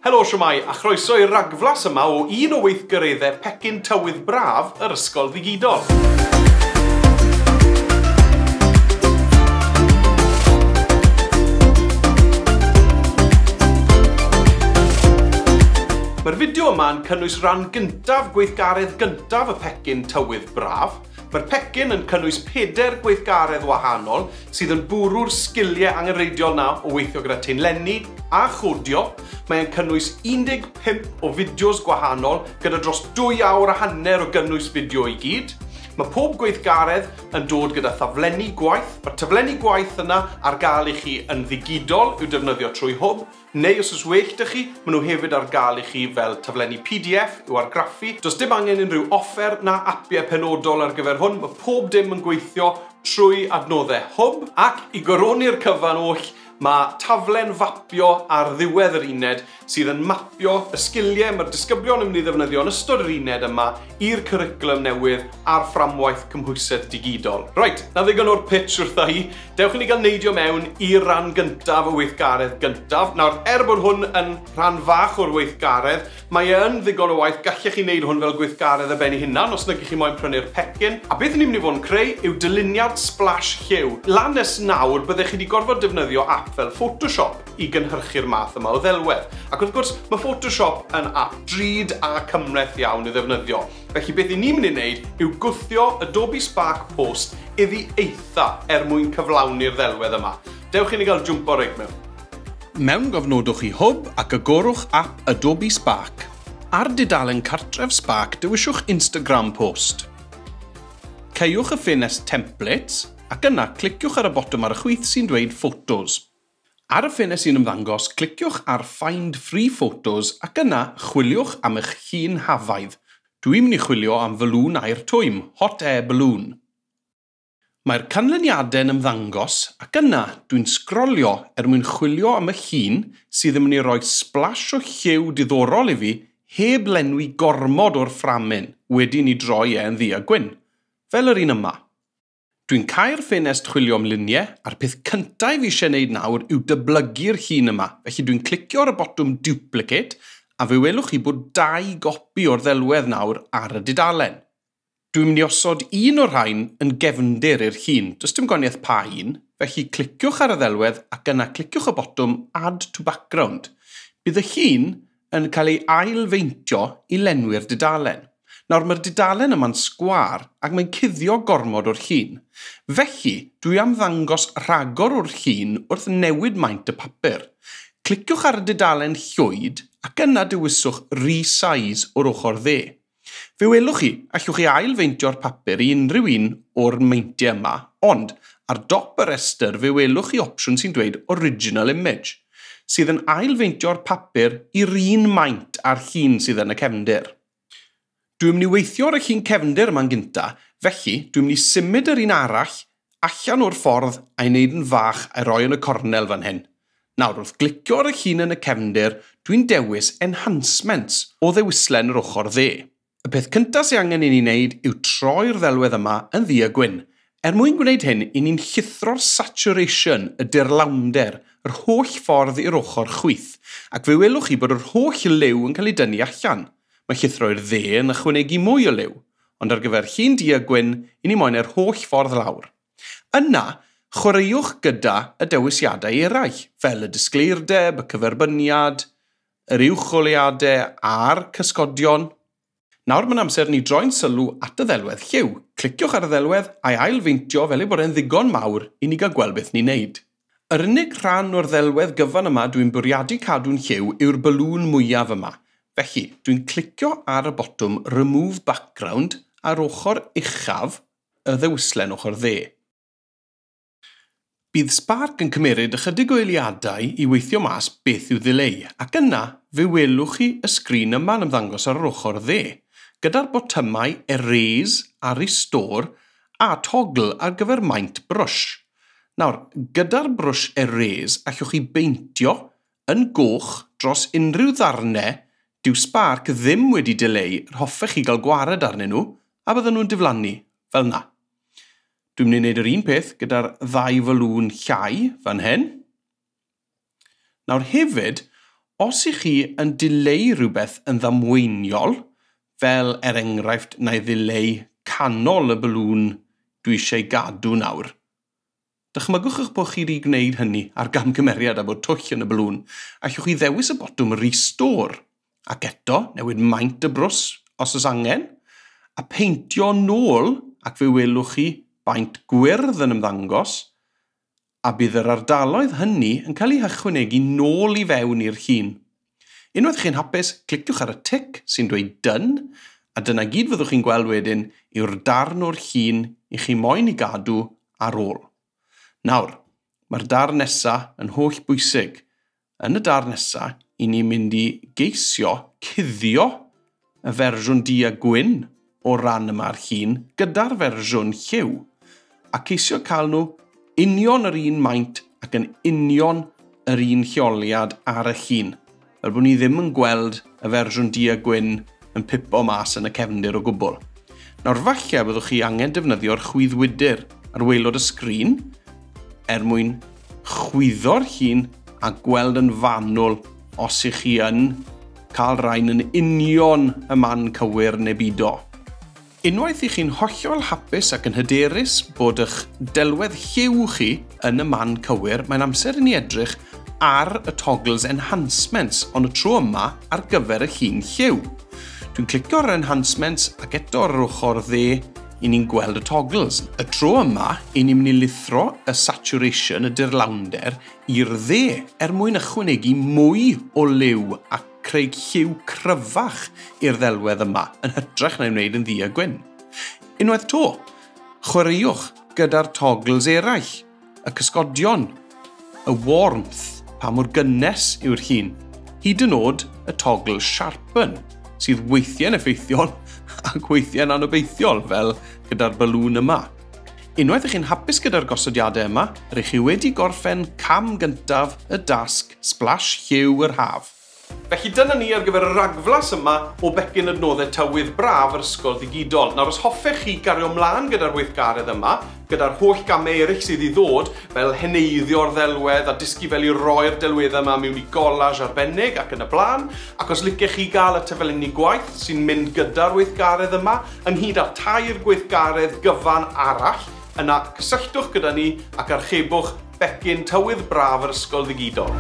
Helo shwmae, a chroeso i'r ragflas yma o un o weithgareddau pecyn tywydd braf yr Ysgol Ddigidol. Mae'r fideo yma yn cynnwys rhan gyntaf gweithgaredd gyntaf y pecyn tywydd braf. Mae'r pecyn yn cynnwys 4 gweithgaredd wahanol sydd yn bwrw'r sgiliau angenrheidiol na o weithio gyda taenlenni a chodio. Mae'n cynnwys 15 o fideos gwahanol gyda dros 2 awr a hanner o gynnwys fideo i gyd. Mae pob gweithgaredd yn dod gyda thaflenni gwaith. Mae'r taflenni gwaith yna ar gael i chi yn ddigidol i'w defnyddio trwy Hwb, neu os oes well 'da chi, maen nhw hefyd ar gael i chi fel taflenni PDF i'w argraffu. Does dim angen unrhyw offer na apiau penodol ar gyfer hwn. Mae pob dim yn gweithio trwy adnoddau Hwb, ac i goroni'r cyfan oll, mae taflen fapio ar ddiwedd yr uned sydd yn mapio y sgiliau mae'r disgyblion yn mynd i ddefnyddio yn ystod yr uned yma i'r cwricwlwm newydd a'r fframwaith cymhwysedd digidol. Reit, na ddigon o'r pitch wrtha i. Dewch i ni gael neidio mewn i'r rhan gyntaf y weithgaredd gyntaf. Nawr, er bod hwn yn rhan fach o'r weithgaredd, mae e yn ddigon o waith. Gallech chi wneud hwn fel gweithgaredd ar ben ei hunan os nag ych chi moyn prynu'r pecyn. A beth ni'n mynd i fod yn creu yw dyluniad splash lliw. Lan nes nawr, byddech chi wedi gorfod defnyddio app fel Photoshop i gynhyrchu'r math yma o ddelwedd. Ac wrth gwrs, mae Photoshop yn app drud a cymhleth iawn i ddefnyddio. Felly beth i ni'n mynd i wneud yw gwthio Adobe Spark Post iddi eitha er mwyn cyflawni'r ddelwedd yma. Dewch i ni gael jwmpo reit mewn. Mewngofnodwch i Hwb ac agorwch app Adobe Spark. Ar dudalen cartref Spark, dewiswch Instagram Post. Caewch y ffenest Templates ac yna cliciwch ar y botwm ar y chwith sy'n dweud Photos. Ar y ffenest sy'n ymddangos, cliciwch ar Find Free Photos ac yna chwiliwch am eich llun hafaidd. Dwi'n mynd i chwilio am falŵn aer twym, Hot Air Balloon. Mae'r canlyniadau'n ymddangos ac yna dwi'n sgrolio er mwyn chwilio am y llun sydd yn mynd i roi splash o lliw diddorol i fi heb lenwi gormod o'r fframyn wedi ni droi e yn ddu a gwyn, fel yr un yma. Dwi'n cau'r ffenest chwilio am luniau a'r peth cyntaf fi eisiau gwneud nawr yw dyblygu'r llun yma. Felly dwi'n clicio ar y botwm Duplicate a fe welwch chi bod 2 gopi o'r ddelwedd nawr ar y dudalen. Dwi'n mynd i osod un o'r rhain yn gefndir i'r llun. Does dim gwahaniaeth pa un, felly cliciwch ar y ddelwedd ac yna cliciwch y botwm Add to Background. Bydd y llun yn cael ei ailfeintio i lenwi'r dudalen. Nawr mae'r dudalen yma'n sgwâr ac mae'n cuddio gormod o'r llun. Felly, dwi am ddangos rhagor o'r llun wrth newid maint y papur. Cliciwch ar y dudalen llwyd ac yna dewiswch Resize o'r ochr dde. Fe welwch chi, allwch chi ailfeintio'r papur i unrhyw un o'r meintiau yma, ond ar dop y rhestr fe welwch chi opsiwn sy'n dweud Original Image, sydd yn ailfeintio'r papur i'r un maint a'r llun sydd yn y cefndir. Dwi'n mynd i weithio ar y llun cefndir yma'n gynta, felly dwi'n mynd i symud yr un arall allan o'r ffordd a'i wneud yn fach a'i roi yn y cornel fan hyn. Nawr, wrth glicio ar y llun yn y cefndir, dwi'n dewis Enhancements o ddewislen yr ochr dde. Y peth cyntaf sydd angen i ni wneud yw troi'r ddelwedd yma yn ddu a gwyn. Er mwyn gwneud hyn, i ni'n llithro'r saturation, y dirlawnder, yr holl ffordd i'r ochr chwith, ac fe welwch chi bod yr holl liw yn cael ei dynnu allan. Mae llithro i'r dde yn ychwanegu mwy o liw, ond ar gyfer llun du a gwyn, i ni moyn yr holl ffordd lawr. Yna, chwaraewch gyda y dewisiadau eraill, fel y disgleirdeb, y cyferbyniad, yr uwcholeuadau a'r cysgodion. Nawr mae'n amser ni droi'n sylw at y ddelwedd lliw. Cliciwch ar y ddelwedd a'i ailfeintio fel ei bod e'n ddigon mawr i ni gael gweld beth ni'n neud. Yr unig rhan o'r ddelwedd gyfan yma dwi'n bwriadu cadw'n lliw yw'r balŵn mwyaf yma. Felly, dwi'n clicio ar y botwm Remove Background ar ochr uchaf y ddewislen ochr dde. Bydd Spark yn cymeryd ychydig o eiliadau i weithio mas beth yw ddileu, ac yna fe welwch chi y sgrin yma'n ymddangos ar yr ochr dde, gyda'r botymau Erase a Restore a toggle ar gyfer maint brwsh. Nawr, gyda'r brwsh Erase allwch chi beintio yn goch dros unrhyw ddarnau dyw Spark ddim wedi dileu yr hoffech chi gael gwared arnyn nhw a bydden nhw'n diflannu, fel na. Dwi'n mynd i wneud yr un peth gyda'r ddau falŵn llai fan hyn. Nawr hefyd, Os ych chi yn dileu rhywbeth yn ddamweiniol, fel er enghraifft na i ddileu canol y balŵn dwi eisiau gadw nawr, dychmygwch eich bod chi wedi gwneud hynny ar gamgymeriad a bod twll yn y balŵn. Allwch chi ddewis y botwm Restore, ac eto newid maint y brws os oes angen, a peintio nôl ac fe welwch chi baent gwyrdd yn ymddangos, a bydd yr ardaloedd hynny yn cael eu hychwanegu nôl i fewn i'r llun. Unwaith chi'n hapus, cliciwch ar y tic sy'n dweud "Done", a dyna gyd fyddwch chi'n gweld wedyn yw'r darn o'r llun i chi moyn i gadw ar ôl. Nawr, mae'r darn nesaf yn holl bwysig. Yn y darn nesaf, i ni'n mynd i geisio cuddio y fersiwn du a gwyn o ran yma'r llun gyda'r fersiwn lliw, a ceisio cael nhw union yr un maint ac yn union yr un lleoliad ar y llun, fel bod ni ddim yn gweld y fersiwn du a gwyn yn pipo mas yn y cefndir o gwbl. Nawr falle byddwch chi angen defnyddio'r chwyddwydr ar waelod y sgrin er mwyn chwyddo'r llun a gweld yn fanwl os ych chi yn cael rhain yn union y man cywir neu bido. Unwaith i chi'n hollol hapus ac yn hyderus bod eich delwedd lliw chi yn y man cywir, mae'n amser i ni edrych ar y toggles enhancements, ond y tro yma ar gyfer y llun lliw. Dwi'n clicio ar enhancements ac eto ar yr ochr dde i ni'n gweld y toggles. Y tro yma, i ni'n mynd i lithro y saturation, y dirlawnder, i'r dde er mwyn ychwanegu mwy o liw a creu lliw cryfach i'r ddelwedd yma, yn hytrach na'i wneud yn ddu a gwyn. Unwaith 'to, chwaraewch gyda'r toggles eraill, y cysgodion, y warmth, pa mor gynnes yw'r llun, hyd yn oed y toggle sharpen, sydd weithiau'n effeithiol ac weithiau'n anobeithiol, fel gyda'r balŵn yma. Unwaith ych chi'n hapus gyda'r gosodiadau yma, rydych chi wedi gorffen cam gyntaf y dasg Splash Lliw yr Haf. Felly dyna ni ar gyfer y ragflas yma o becyn adnoddau tywydd braf yr Ysgol Ddigidol. Nawr, os hoffech chi gario ymlaen gyda'r weithgaredd yma, gyda'r holl gamau eraill sydd i ddod, fel heneiddio'r ddelwedd a dysgu fel i roi'r delweddau yma mewn i collage arbennig ac yn y blaen, ac os licech chi gael y taflenni gwaith sy'n mynd gyda'r weithgaredd yma, ynghyd â tair gweithgaredd gyfan arall, yna cysylltwch gyda ni ac archebwch becyn tywydd braf yr Ysgol Ddigidol.